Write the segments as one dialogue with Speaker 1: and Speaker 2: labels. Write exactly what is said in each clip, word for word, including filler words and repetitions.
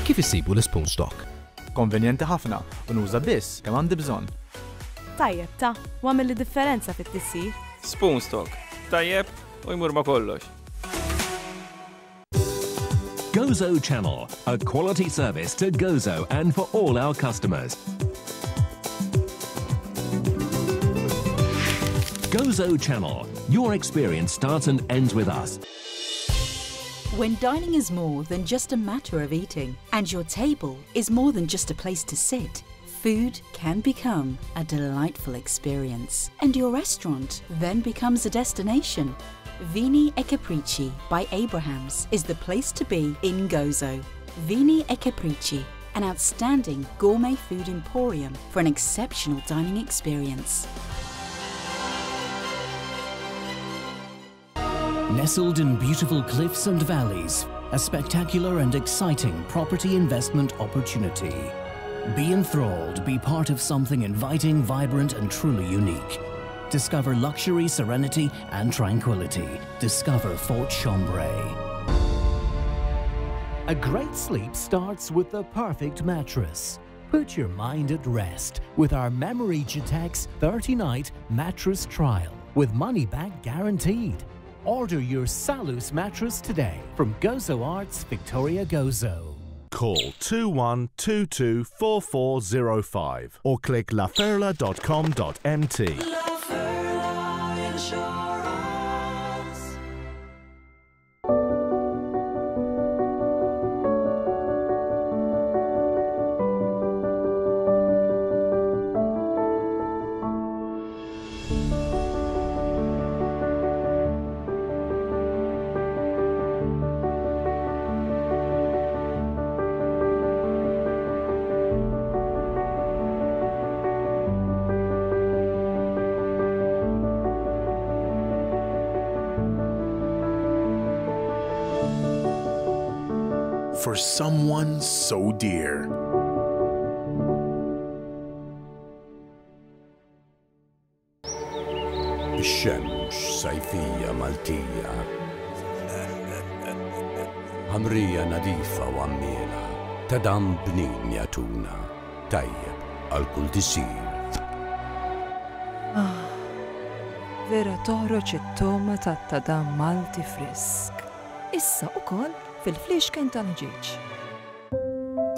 Speaker 1: Kif issibu l-Spoon Stock?
Speaker 2: Konvenjenti ħafna u nuża biss kemm għandi bżonn.
Speaker 3: Tajjeb ta' u għamilli differenza fit-tisjir.
Speaker 4: Spoon Stock. Tajjeb u jmur ma' kollox.
Speaker 5: Gozo Channel, a quality service to Gozo and for all our customers. Gozo Channel, your experience starts and ends with us.
Speaker 6: When dining is more than just a matter of eating, and your table is more than just a place to sit, food can become a delightful experience, and your restaurant then becomes a destination. Vini e Capricci by Abrahams is the place to be in Gozo. Vini e Capricci, an outstanding gourmet food emporium for an exceptional dining experience.
Speaker 7: Nestled in beautiful cliffs and valleys, a spectacular and exciting property investment opportunity. Be enthralled, be part of something inviting, vibrant, and truly unique. Discover luxury, serenity, and tranquility. Discover Fort Chambray. A great sleep starts with the perfect mattress. Put your mind at rest with our Memory Gitex thirty-night mattress trial with money back guaranteed. Order your Salus mattress today from Gozo Arts, Victoria Gozo.
Speaker 8: Call two one two two four four zero five or click laferla dot com dot m t.
Speaker 9: La Ferla Insurance.
Speaker 10: For someone so dear.
Speaker 11: Ix-xemx sajfija Maltija. Ħamrija nadifa u għammiela, ta' dam bnin jatuna, tajjeb għal kull tisir.
Speaker 12: Ah, vera toħroġ it-toma tat-tadam Malti frisk. Issa ukoll fil-fliexken tal-ħġieġ.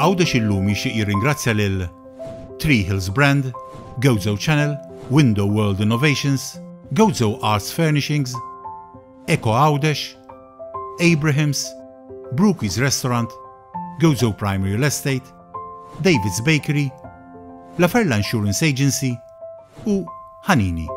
Speaker 13: Għawdex illum jixtieq jirringrazzja lil Three Hills Brand, Gozo Channel, Window World Innovations, Gozo Arts Furnishings, Eco Għawdex, Abrahams, Brookies Restaurant, Gozo Prime Real Estate, David's Bakery, La Ferla Insurance Agency u Hanini.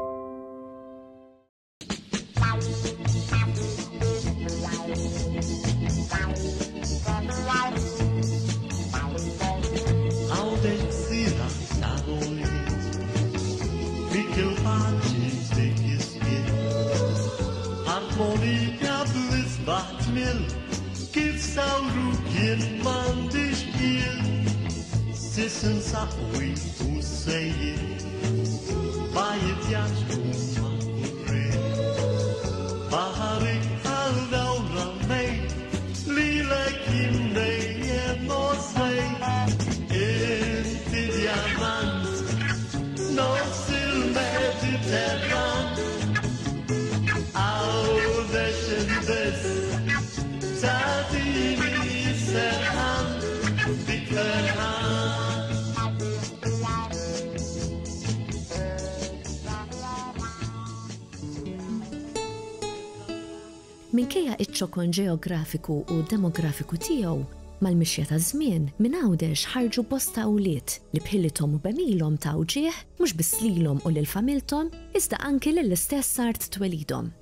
Speaker 14: Minkejja iċ-ċokon ġeografiku u demografiku tiegħu, mal-mixja ta' żmien minn Għawdex ħarġu bosta wlied li bħilithom u bemilhom ta' wġieħ mhux biss lilhom u lil familthom, iżda anki lill-istess art twelidhom.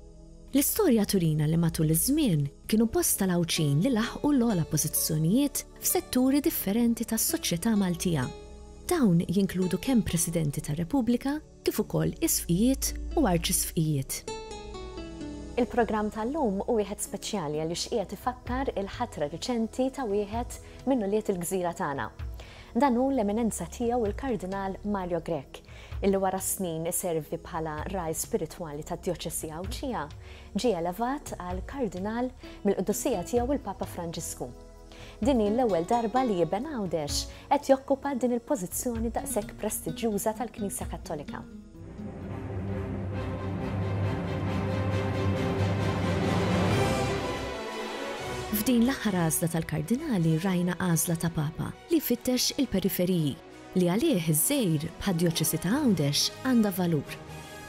Speaker 14: L-istorja turina li matul iż-żmien kienu bosta l-Għawdxin li laħqu l-ogħla pożizzjonijiet f'setturi differenti tas-soċjetà Maltija. Dawn jinkludu kemm Presidenti tar-Repubblika kif ukoll isfqijiet u arċisfqijiet. Il-programm tal-lum hu wieħed speċjali għaliex qiegħed ifakkar il-ħatra riċenti ta' wieħed minn ulied il-gżira tagħna. Dan hu l-eminenza tiegħu il-Kardinal Mario Grech, illi wara snin iservi bħala raj spiritwali tad-Djoċesi Għawdxija, ġie elevat għal Kardinal mill-Qdusija tiegħu il-Papa Franġisku. Din hi l-ewwel darba li iben Għawdex qed jokkupa din il-pożizzjoni daqshekk prestiġjuża tal-Knisja Kattolika. F'din l-aħħar għażla tal-kardinali rajna għażla ta' Papa li fittex il-periferiji li għalih iż-żgħir bħad-djoċesi ta' Għawdex għandha valur.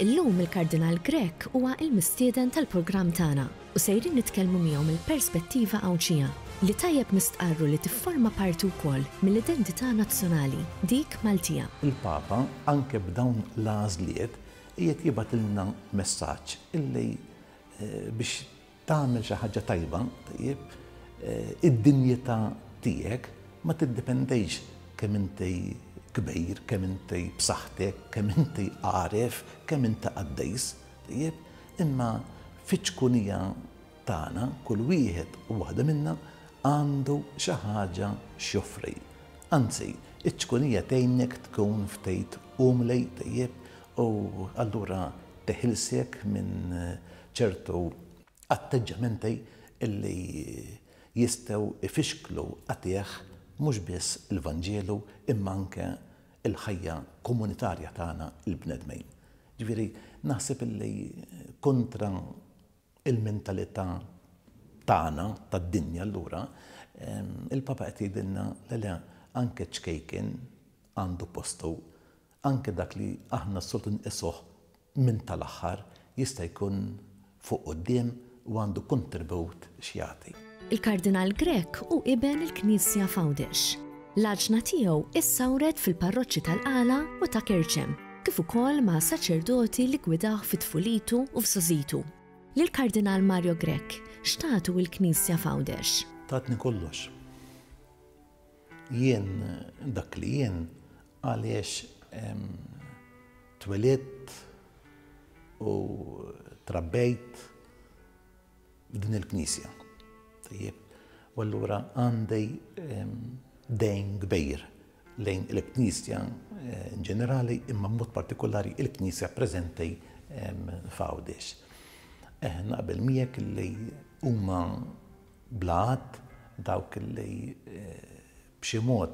Speaker 14: Illum il-Kardinal Grech huwa il-mistieden tal-programm tagħna u sejrin nitkellmu miegħu mill-perspettiva Għawdxija li tajjeb nistqarru li tifforma parti wkoll mill-identità nazzjonali, dik Maltija.
Speaker 1: Il-Papa anke b'dawn l-għażliet qiegħed jibgħatilna messaġġ illi biex tagħmel xi ħaġa tajba, tajjeb, id-dinjità tiegħek ma tiddependejx kemm inti kbir, kemm inti b'saħħtek, kemm inti għaref, kemm inti qaddejs, tajjeb, imma fiċ-ċkunija tagħna kull wieħed u waħda minna għandu xi ħaġa x'joffri. Anzi, iċ-ċkunija tgħinek tkun ftit umli, tajjeb, u allura teħilsek minn ċertu atteġġamenti illi jistgħu ifixklu għatih mhux biss il-Vanġelu imma anke il-ħajja komunitarja tagħna il-bnedmin. Ġifieri naħseb illi kontra il-mentalità tagħna tad-dinja allura il-Papa qed jgħidilna le le anke ċkejken għandu postu, anke dak li aħna s-soltu nqisuh minn tal-aħħar jista' jkun fuq quddiem u għandu kontribut x'jagħti.
Speaker 14: Il-Kardinal Grech hu iben il-Knisja f'Għawdex. L-għaġna tiegħu issawret fil-parroċċi tal-Qala u ta' Kerċem, kif ukoll ma' saċerdoti li gwidawh fit-tfulitu u f'sożitu. Lill-Kardinal Mario Grech x'tagħtu l-Knisja f'Għawdex?
Speaker 1: Tatni kollox. Jien dak li jien għaliex twelidt u trabbejt f'din il-Knisja. Tajjeb, u allura għandi dejn kbir lejn il-Knisja in ġenerali imma b'mod partikolari il-Knisja preżenti f'Għawdex. Naqbel miegħek li huma bla għadd dawk li b'xi mod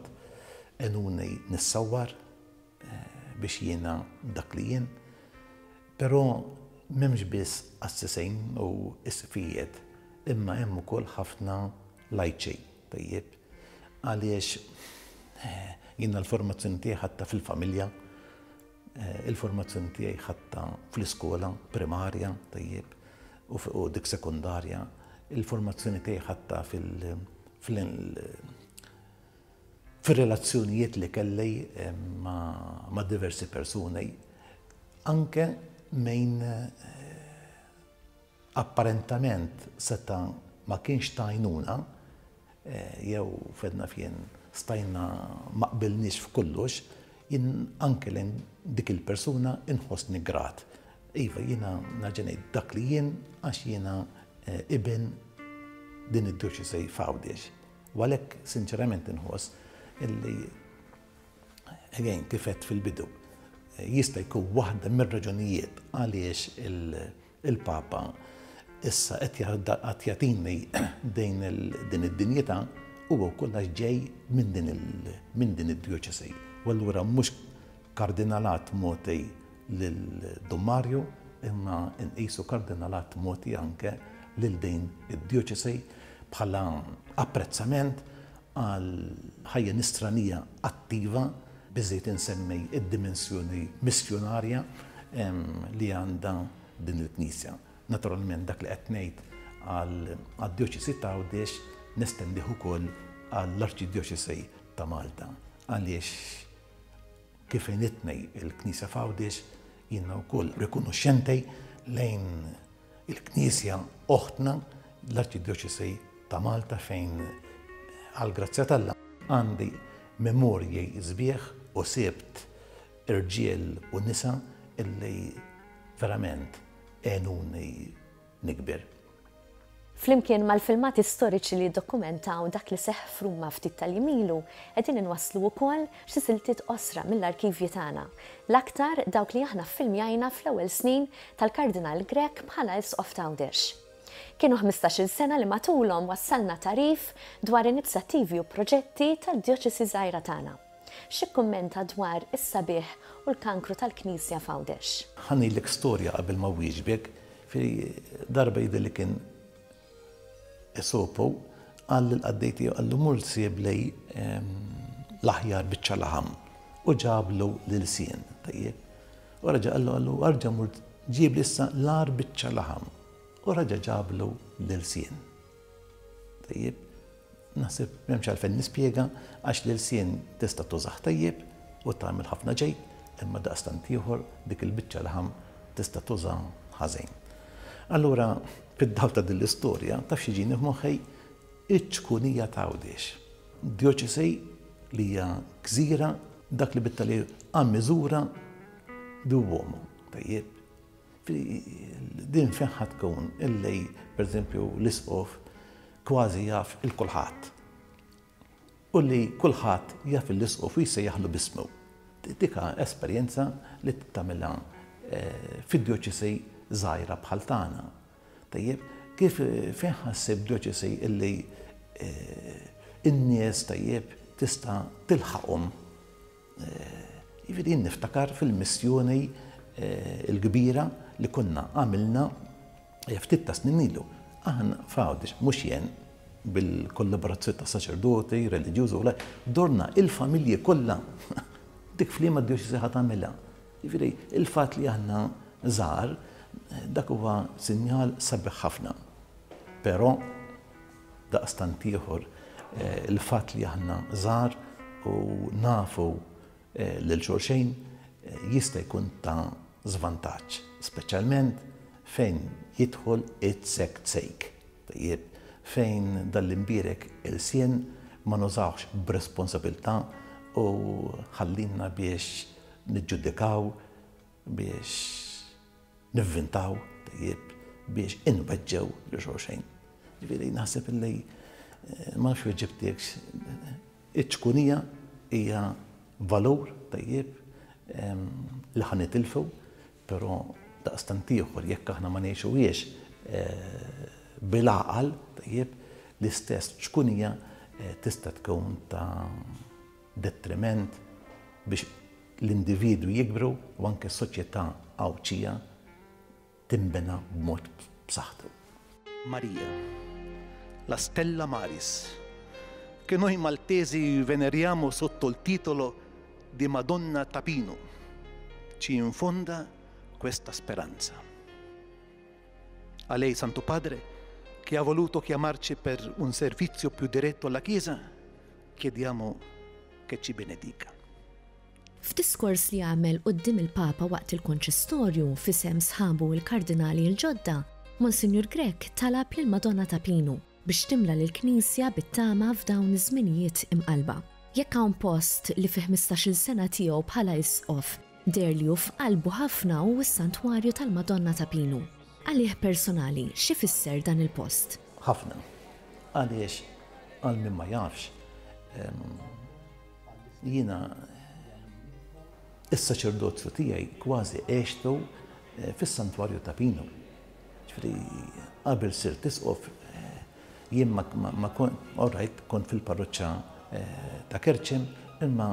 Speaker 1: għenuni nissawwar biex jiena dak li jien, però m'hemmx biss qassisejn u isqfijiet imma hemm ukoll ħafna lajċi, tajjeb, għaliex jiena l-formazzjoni tiegħi ħadtha fil-familja, il-formazzjoni tiegħi ħadtha fl-iskola primarja, tajjeb, u dik sekondarja, il-formazzjoni tiegħi ħadtha fil-relazzjonijiet li kelli ma' diversi persuni, anke mejn apparentament seta' ma kienx ta' għajnuna, jew fedna fien stajna ma qbilniex f'kollox, jien anke lejn dik il-persuna inħossni grat. Iva, jiena nerġa' ngħid dak li jien għax jiena iben din id-djoċesi f'Għawdex. U għalhekk sinċerament inħoss illi again kif għedt fil-bidu jista' jkun waħda mir-raġunijiet għaliex il-Papa issa qed jagħtini din id-dinjità huwa wkoll għax ġej minn din id-djoċesi. U allura mhux kardinalat mogħti lil Dun Mario imma nqisu kardinalat mogħti anke lil din id-djoċesi bħala apprezzament għal ħajja nisranija attiva, biżejt insemmi id-dimensjoni missjonarja li għandha din il-Knisja. Naturalment dak li qed ngħid għad-djoċesi ta' Għawdex nestendih ukoll għall-Arċidjoċesi ta' Malta. Għaliex kif għenitni il-Knisja f'Għawdex jiena wkoll rikonoxxenti lejn il-Knisja oħtna l-Arċidjoċesi ta' Malta fejn għall-grazzja t'Alla għandi memorji sbieħ u sibt irġiel u nisa illi verament għenuni nikber.
Speaker 14: Flimkien mal-filmati storiċi li dokumentaw dak li seħħ f'Ruma ftit tal-jimilu, qegħdin inwasslu wkoll xi siltiet qosra mill-arkivji tagħna. L-aktar dawk li aħna ffilmjajna fl-ewwel snin tal-Kardinal Grech bħala Isqof t'Għawdex. Kienu ħmistax-il sena li matulhom wassalna tagħrif dwar inizjattivi u proġetti tad-djoċesi żgħira tagħna. X'ikkummenta dwar is-sabiħ u l-kankru tal-Knisja f'Għawdex?
Speaker 1: Ħa ngħidlek storja qabel ma wieġbek, fi darba jidher li kien Esopo qal lill-qaddej tiegħu qallu mur sibli l-aħjar biċċa laħam u ġablu l-ilsien. Tajjeb. U raġa' qallu qallu arġa' mur ġibli issa l-agħar biċċa laħam. U raġa' ġablu l-ilsien. Tajjeb. Naħseb m'hemmx għalfejn nispjega għax l-ilsien tista' tużah tajjeb u tagħmel ħafna ġejt, imma daqstant ieħor dik il-biċċa laħam tista' tuża ħażin. Allura, fid-dawl ta' din l-istorja, taf x'jiġini f'moħħi? Iċ-ċkunija ta' Għawdex. Djoċesi li hija gżira, dak li bit-Taljan a miżura di uomo. Tajjeb. Din fejn ħa tkun illi, pereżempju, l-isqof kważi jaf il-kulħadd. U li kulħadd jaf l-isqof u jsejjaħlu b'ismu. Dika esperjenza li tagħmilha fid-djoċesi żgħira bħal tagħna. Tajjeb, kif fejn ħassib djoċesi illi in-nies tajjeb tista' tilħaqhom. Jiġifieri jien niftakar fil-missjoni l-kbira li konna għamilna ftit ta' snin ilu. Aħna f'Għawdex, mhux jien, bil-kollaborazzjoni ta' saċerdoti, reliġjużi u dorna il-familji kollha. Dik f'liema djoċesi ħa tagħmilha. Jiġifieri il-fatt li aħna żgħar dak huwa sinjal sabiħ ħafna. Però daqstant ieħor il-fatt li aħna żgħar u nafu lil xulxejn jista' jkun ta' żvantaġġ, speċjalment fejn jidħol it-sek-sejk. Tajjeb, fejn dal-imbierek ilsien ma nużawx b'responsabilità u ħallinna biex niġġudikaw, biex nivvintaw, tajjeb, biex inweġġew lil xulxejn. Ġifieri naħseb illi ma nafx weġibtekx, iċ-ċkunija hija valur tajjeb li ħa nitilfu, però daqstant ieħor jekk aħna ma ngħixuhiex bil-għaqal tajjeb, l-istess ċkunija tista' tkun ta' detriment biex l-individwi jikbru u anke s-soċjetà Għawdxija tinbena b'mod b'saħħtu.
Speaker 15: Maria, la Stella Maris, che noi maltesi veneriamo sotto il titolo di Madonna Ta' Pinu, ci infonda questa speranza. A lei, Santo Padre, che ha voluto chiamarci per un servizio più diretto alla Chiesa, chiediamo che ci benedica.
Speaker 14: F'diskors li għamel quddiem il-Papa waqt il-konċistorju f'isem sħabu il-kardinali l-ġodda, Monsinjur Grech talab lil Madonna ta' Pinu biex timla lill-Knisja bit-tama f'dawn iż-żminijiet imqalba. Jekk hawn post li fi ħmistax-il sena tiegħu bħala isqof deher li hu f'qalbu ħafna hu s-Santwarju tal-Madonna ta' Pinu. Għalih personali, x'ifisser dan il-post?
Speaker 1: Ħafna. Għaliex għal min ma jafx, jiena is-saċerdozju tiegħi kważi għextu fis-Santwarju ta' Pinu. Ġifieri qabel sirt isqof jien ma, ma kont, all right, kont fil-parroċċa ta' Kerċem, imma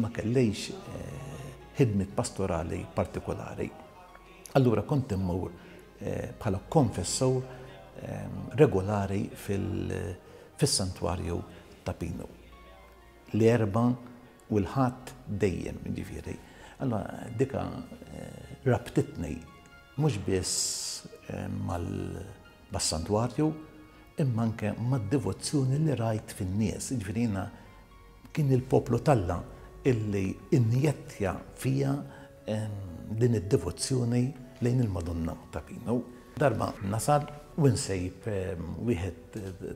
Speaker 1: ma kellejx ħidmiet pastorali partikolari. Allura kont immur bħala konfessur regolari fil-Santwarju ta' Pinu. L-Erbgħa u l-Ħadd dejjem, ġifieri. Allora dika rabtitni mhux biss mal-santwarju, imma anke mad-devozzjoni li rajt fin-nies. Ġifieri jiena kien il-poplu t'Alla illi injettja fija din id-devozzjoni lejn il-Madonna ta' Pinu. Darba nasal u nsejb wieħed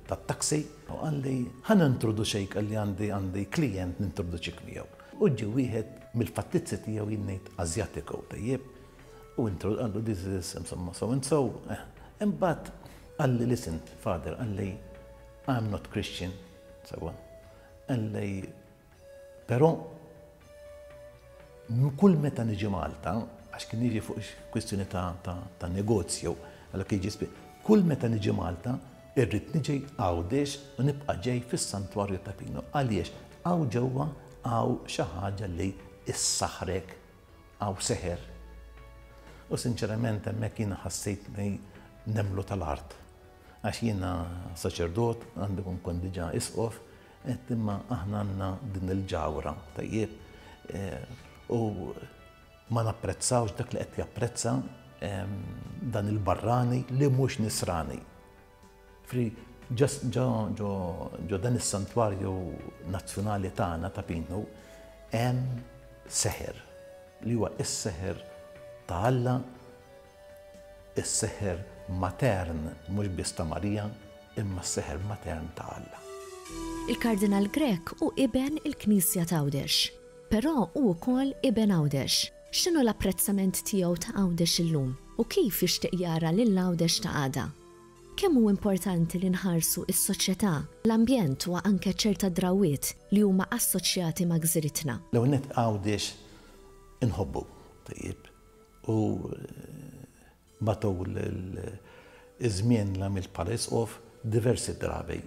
Speaker 1: tat-taxi u qalli ħa nintroduċejk, qalli għandi għandi klient nintroduċik miegħu. U ġie wieħed mill-fattizzi tiegħu jien ngħid Azjatiku, tajjeb, u qallu this is insomma so and so. Imbagħad qalli listen, father, qalli I'm not Christian, sewwa. Qalli però kull meta niġi Malta, għax kien jiġi fuq kwistjoni ta', ta, ta' negozju, għalla kien jiġi, Kull meta niġi Malta, irrid niġi Għawdex u nibqa' ġej fis-Santwarju ta' Pinu. Għaliex hawn ġewwa hawn xi ħaġa li ssaħħrek, hawn seħer. U sinċerament hemmhekk jiena ħassejtni nemlu tal-art. Għax jiena saċerdot, għandi kun kont diġà isqof, qed imma aħna għandna din il-ġawra, tajjeb, u ma napprezzawx dak li qed japprezza dan il-barrani li mhux nisrani. Fri ġo dan is-santwarju nazzjonali tagħna ta' Pinu hemm seħer li huwa is-seħer ta' Alla, is-seħer matern mhux biss ta' Marija, imma s-seħer matern ta' Alla.
Speaker 14: Il-Kardinal Grech hu iben il-Knisja t'Għawdex, però hu wkoll iben Għawdex. X'inhu l-apprezzament tiegħu ta' Għawdex illum u kif jixtieq jara lil Għawdex ta' għada? Kemm hu importanti li nħarsu s-soċjetà, l-ambjent u anke ċerta drawwiet li huma assoċjati ma' gżiritna?
Speaker 1: L-ewwel nett Għawdex inħobbu, tajjeb, u matul iż-żmien li għamilt bħala isqof diversi drabi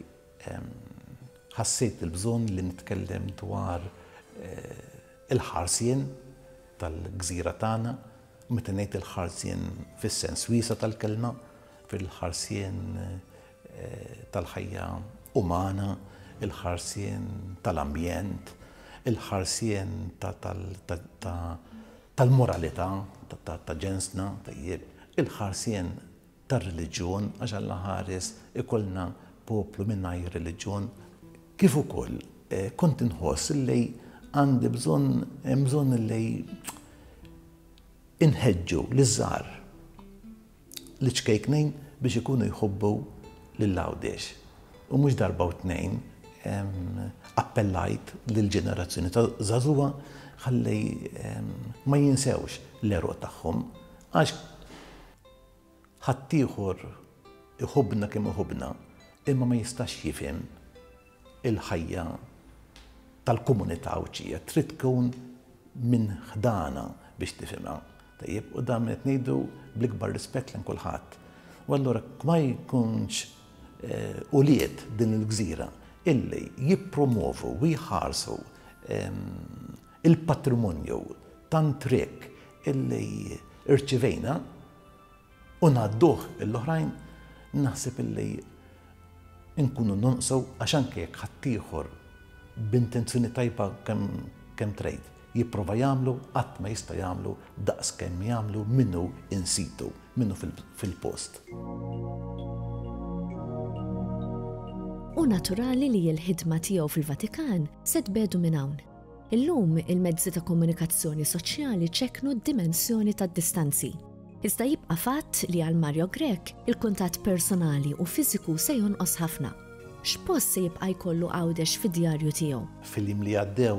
Speaker 1: ħassejt il-bżonn li nitkellem dwar il-ħarsien tal-gżira tagħna, meta ngħid il-ħarsien fis-sens wiesa' tal-kelma, fil-ħarsien tal-ħajja umana, il-ħarsien tal-ambjent, il-ħarsien tal-moralità ta' ġensna, tajjeb, il-ħarsien tar-reliġjon, għax Alla ħares ikollna poplu mingħajr reliġjon, kif ukoll kont inħoss li għandi bżonn, hemm bżonn li inħeġġu liż-żgħar, l-ċkejknin biex ikunu jħobbu lil Għawdex. U mhux darba u tnejn appellajt lill-ġenerazzjoni ta' żagħżugħa ħalli ma jinsewx l-għeruq tagħhom, għax ħaddieħor iħobbna kemm iħobbna, imma ma jistax jifhem il-ħajja tal-komunità Għawdxija, trid tkun minn ħdana biex tifhimha. Tajjeb, u dan qed ngħidu bl-ikbar rispett lejn kulħadd. U allura ma jkunx ulied din il-gżira illi jippromovu u jħarsu il-patrimonju tant rikk illi irċivejna u ngħadduh l-oħrajn, naħseb illi nkunu nonqsu, għax anke jekk ħaddieħor b'intenzjoni tajba kemm trid jipprova jagħmlu, qatt ma jista' jagħmlu daqs kemm jagħmlu minnu in situ, minnu fil-post.
Speaker 14: U naturali li l-ħidma tiegħu fil-Vatikan se tbedu minn hawn. Illum il-mezzi ta' komunikazzjoni soċjali ċekknu d-dimensjoni tad-distanzi. Iżda jibqa' fatt li għal Mario Grech il-kuntatt personali u fiżiku se jonqos ħafna. X'post se jibqa' jkollu Għawdex fid-djarju tiegħu?
Speaker 1: Fil-jiem li għaddew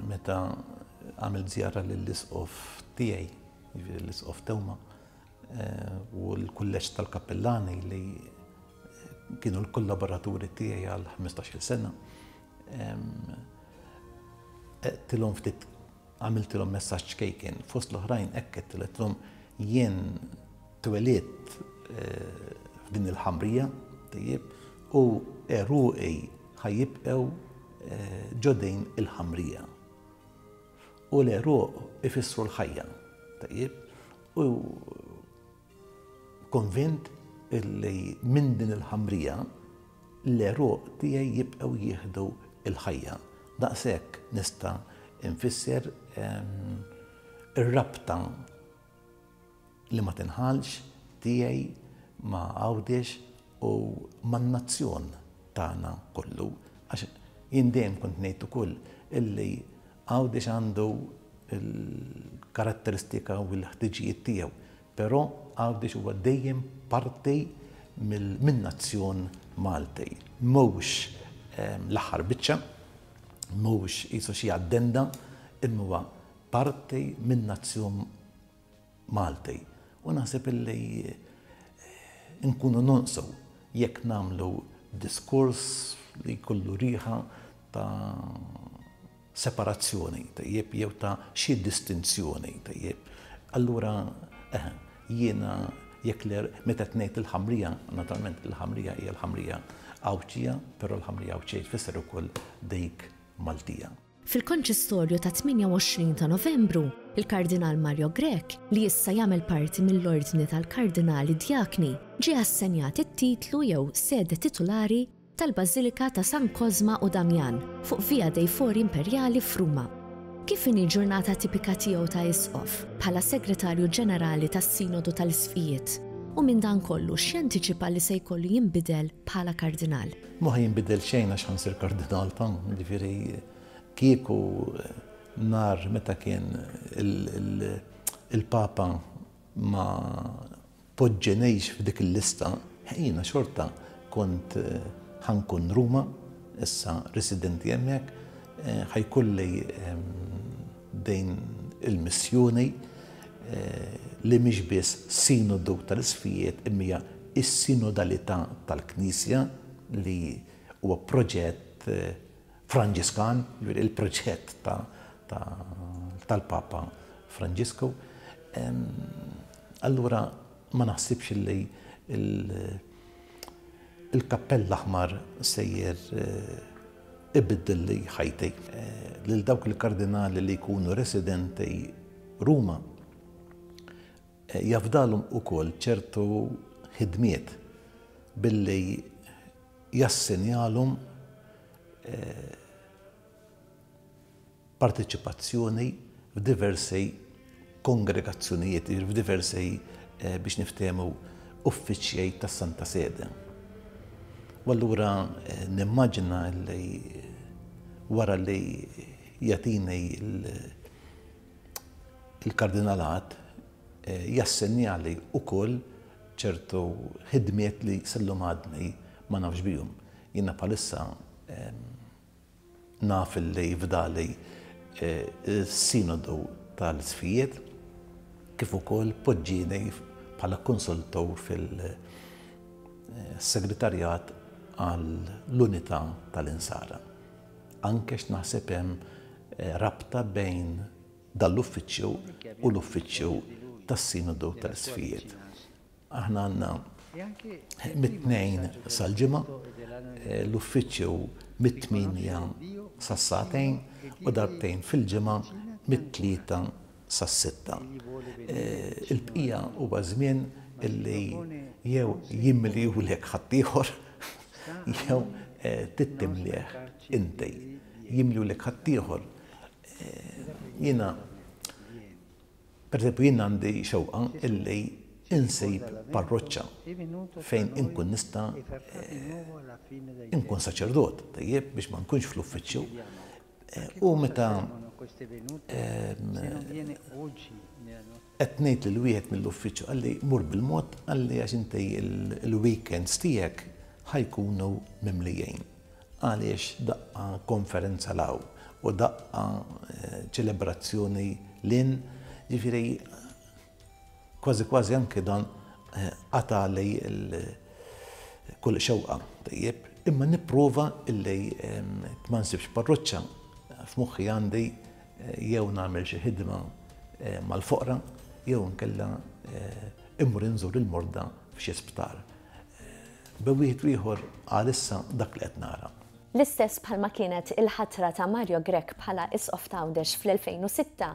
Speaker 1: meta għamilt żjara lill-isqof tiegħi, jiġifieri l-isqof Tewma, u l-kulleġġ tal-kappellani li kienu l-kollaboraturi tiegħi għal ħmistax-il sena, għedtilhom ftit, għamiltilhom messaġġ ċkejken, fost l-oħrajn hekk għedtilhom jien twelidt f'din il-ħamrija, tajjeb, u għeruqi ħajjibqgħu ġo din il-ħamrija. U l-għeruq ifissru l-ħajja, tajjeb, u konvint illi minn din il-ħamrija l-għeruq tiegħi jibqgħu jieħdu l-ħajja. Daqshekk nista' nfisser ir-rabta li ma tinħalx tiegħi ma' Għawdex u man-nazzjon tagħna kollu, għax jien dejjem kont ngħid ukoll illi Għawdex għandu l-karatteristika u l-ħtiġijiet tiegħu, però Għawdex huwa dejjem parti min-nazzjon Malti. Mhux l-aħħar biċċa, mhux qisu xi addenda, imma huwa parti min-nazzjon Malti. U naħseb illi nkunu nonqsu jekk nagħmlu diskors li jkollu riħa ta' separazzjoni, tajjeb, jew ta' xi distinzjoni, tajjeb. Allura, eh, jiena Jekk meta tnejt il-ħamrija, naturalment il-ħamrija hija l-ħamrija Għawdxija, però l-ħamrija Għawdxija tfisser ukoll dik Maltija.
Speaker 14: Fil-konċistorju ta' tmienja u għoxrin ta' Novembru, il-Kardinal Mario Grech, li issa jagħmel parti mill-Ordni tal-Kardinali Djakni, ġie assenjat it-titlu jew sede titulari tal-Bażilika ta' San Kozma u Damjan fuq Via dei Fori Imperiali f'Ruma. Kif inhi l-ġurnata tipika tiegħu ta' Isqof bħala Segretarju Ġenerali tas-Sinodu tal-Isqfijiet? U minn dan kollu x'jantiċipa li se jkollu jinbidel bħala kardinal?
Speaker 1: Mhu ħa jinbidel xejn għax ħa nsir kardinal ta', jiġifieri kieku nar meta kien il-Papa ma poġġenejx f'dik il-lista, jiena xorta kont ħankun Ruma, issa residenti hemmhekk, ħajkolli dejn il-missjoni li mhix biss sinodu tal-isqfijiet imma hija s-sinodalità tal-Knisja li huwa proġett Franġiskan, jiġifieri il-proġett tal-Papa Franġisku. Allura ma naħsibx li il-kappell l-aħmar sejjer ibiddilli ħajti. Lil dawk il-kardinali li jkunu residenti Ruma jafdalhom ukoll ċertu ħidmiet billi jassenjalhom parteċipazzjoni f'diversi kongregazzjonijiet, f'diversi biex niftehmu uffiċjej tas-Santa Sede. U allura nimmaġina li wara li jagħtini il-kardinalat jassenjali wkoll ċertu ħidmiet li sallum għadni ma nafx bihom. Jiena bħalissa naf li fdali s-sinodu tal-isqfijiet kif ukoll poġġieni bħala konsultur fil-segretarjat għall-unità tal-insara. Anke x'naħseb hemm rabta bejn dal-uffiċċju u l-uffiċċju tas-sinodu tal-isqfijiet. Aħna għandna mit-tnejn sal-ġimgħa, l-uffiċċju mit-tmienja sas-sagħtejn u darbtejn fil-ġimgħa mit-tlieta sas-sitta. Il-bqija huwa żmien illi jew jimliehulek ħaddieħor jew tittimlieh inti. Jimliehulek ħaddieħor. Jiena, per eżempju, jiena għandi xewqa illi insib parroċċa fejn inkun nista' inkun saċerdot, tajjeb, biex ma nkunx fl-uffiċċju. U meta qed ngħid lil wieħed mill-uffiċċju qalli mur bil-mod, qalli għax inti il-weekends tiegħek ħajkunu mimlijin. Għaliex daqqa konferenza law u daqqa ċelebrazzjoni lin, ġifieri kważi kważi anke dan qatali kull xewqa, tajjeb, imma nipprova illi ma nsibx parroċċa f'moħħi għandi jew nagħmel xi ħidma mal-foqra jew nkella immur inżur il-morda f'xi sptar. Bejn wieħed u ieħor għalissa dak li qed nara.
Speaker 14: L-istess bħalma kienet il-ħatra ta' Mario Grech bħala Isqof ta' Għawdex fl-elfejn u sitta,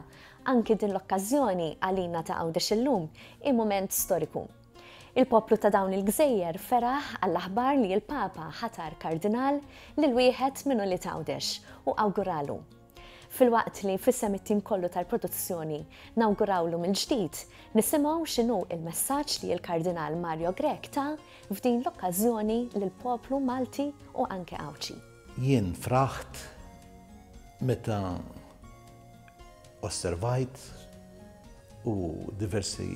Speaker 14: anki din l-okkażjoni għalina ta' Għawdex illum hi mument storiku. Il-poplu ta' dawn il-gżejjer feraħ għall-aħbar li l-Papa ħatar kardinal lil wieħed minn ulied Għawdex u awguralu. Filwaqt li f'isem it-tim kollu tal-produzzjoni nawgurawlu mill-ġdid, nisimgħu x'inhu il-messaġġ li l-Kardinal Mario Grech ta f'din l-okkażjoni lill-poplu Malti u anke Għawdxi.
Speaker 1: Jien fraħt meta osservajt u diversi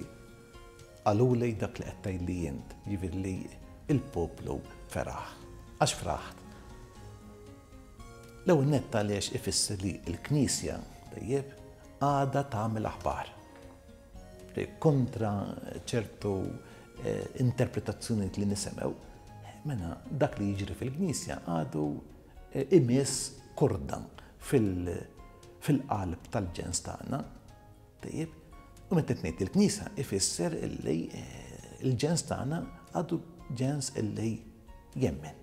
Speaker 1: qaluli dak li qed tgħidli int, jiġifieri li il-poplu feraħ. Għax fraħt? L-ewwel nett għaliex ifisser li l-Knisja tajjeb għadha tagħmel aħbar. Kontra ċertu interpretazzjonijiet li nisemgħu, mela dak li jiġri fil-Knisja għadu imiss korda fil-qalb tal-ġens tagħna. Tajjeb, u meta tnejt il-Knisja ifisser illi Il-ġens tagħna għadu ġens illi jemmen,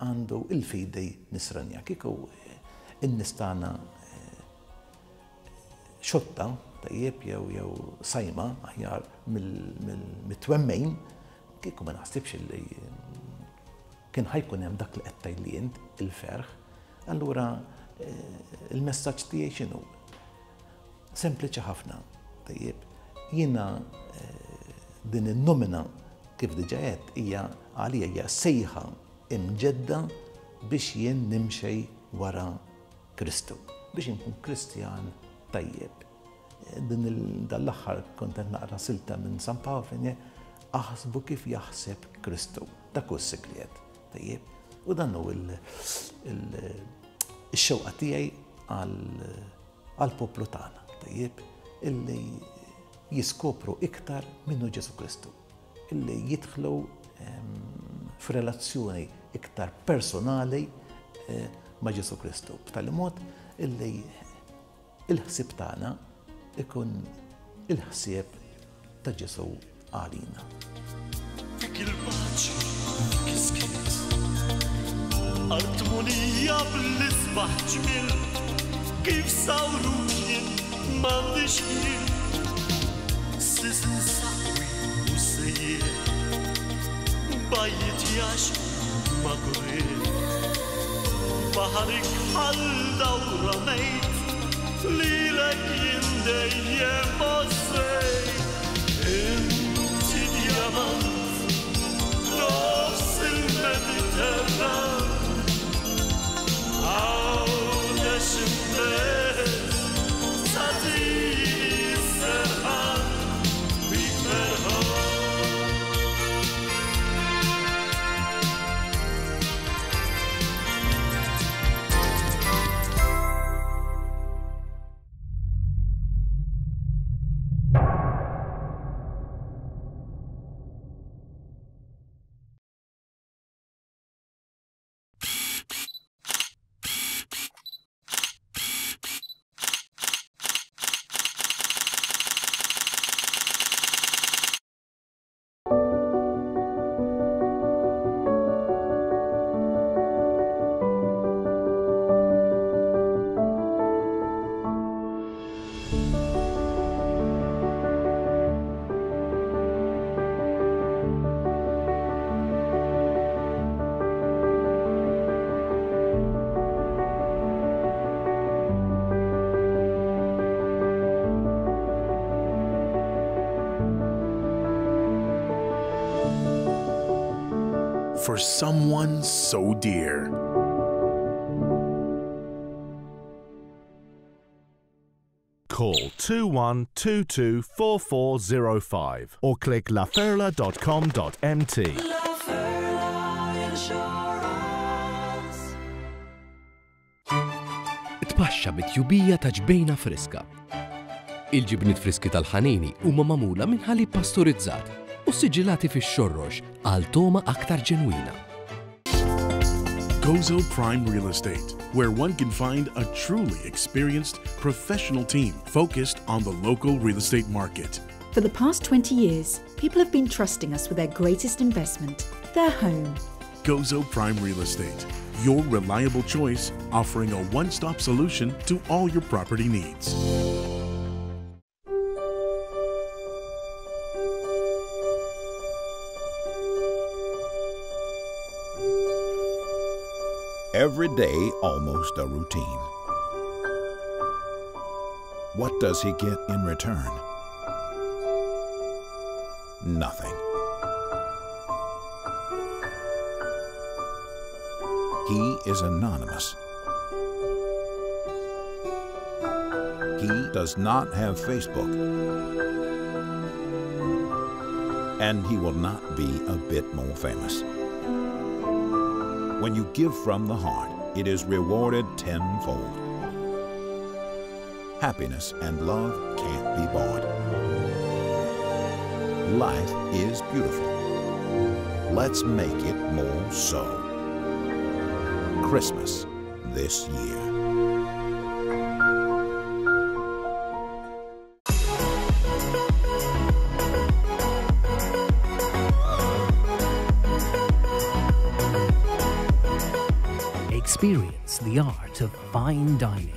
Speaker 1: għandu il-fidi nisranija. Kieku in-nies tagħna xotta tajjeb jew jew sajma aħjar mill-twemmejn, kieku ma naħsibx illi kien ħajkun hemm dak li qed tgħidli int il-ferħ. Allura il-messaġġ tiegħi x'inhu? Sempliċi ħafna, tajjeb. Jiena din in-nomina kif diġà għedt hija għalija hija sejħa imġedda biex jien nimxej wara Kristu, biex inkun Kristjan tajjeb. Din dal-aħħar kont qed naqra silta minn San Pawl fejn aħsbu kif jaħseb Kristu. Dak hu s-sigriet, tajjeb. U dan hu il-xewqa tiegħi għall-poplu tagħna, tajjeb, illi jiskopru iktar minnu Ġesu Kristu, illi jidħlu f'relazzjoni iktar personali ma' Ġesu Kristu, b'tali mod illi il-ħsieb tagħna ikun il-ħsieb ta' Ġesu għalina.
Speaker 9: Fik il-paċi, fik is-skiet, art munija bl-isbaħ ġmiel, kif sawruk jien m'għandix ħin, sisin saqwi u sejjer, bajjiet jaxqu ma' kurriet, baħarik bħal dawra mejt, lilek jien dejjem għożżejt. Inti djamant nofs il-Mediterran, Għawdex imbelt tagħtini s-serħan, bik ferħan.
Speaker 10: For someone so dear.
Speaker 8: Call two one two two four four zero five or click laferla dot com dot m t.
Speaker 9: La Ferla Insurance.
Speaker 16: Tpaxxa bit-tjubija ta' ġbejna friska. Il-ġibniet friski tal-ħanini huma magħmula minn ħalib pasturizzat u siġillati fix-xorrox għal toma aktar ġenwina.
Speaker 10: Gozo Prime Real Estate, where one can find a truly experienced professional team focused on the local real estate market.
Speaker 6: For the past twenty years, people have been trusting us with their greatest investment, their home.
Speaker 10: Gozo Prime Real Estate, your reliable choice, offering a one-stop solution to all your property needs.
Speaker 17: Every day, almost a routine. What does he get in return? Nothing. He is anonymous. He does not have Facebook. And he will not be a bit more famous. When you give from the heart, it is rewarded tenfold. Happiness and love can't be bought. Life is beautiful. Let's make it more so. Christmas this year.
Speaker 7: Experience the art of fine dining.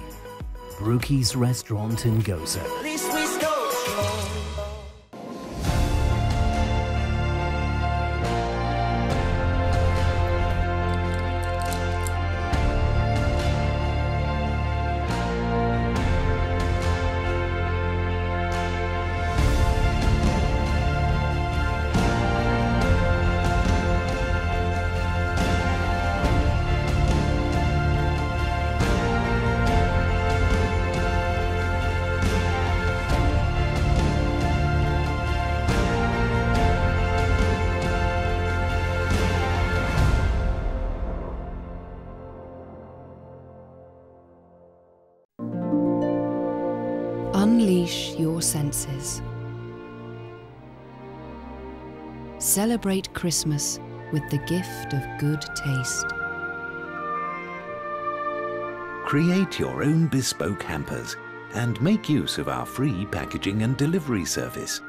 Speaker 7: Brookies Restaurant in Gozo.
Speaker 18: Unleash your senses. Celebrate Christmas with the gift of good taste.
Speaker 19: Create your own bespoke hampers and make use of our free packaging and delivery service.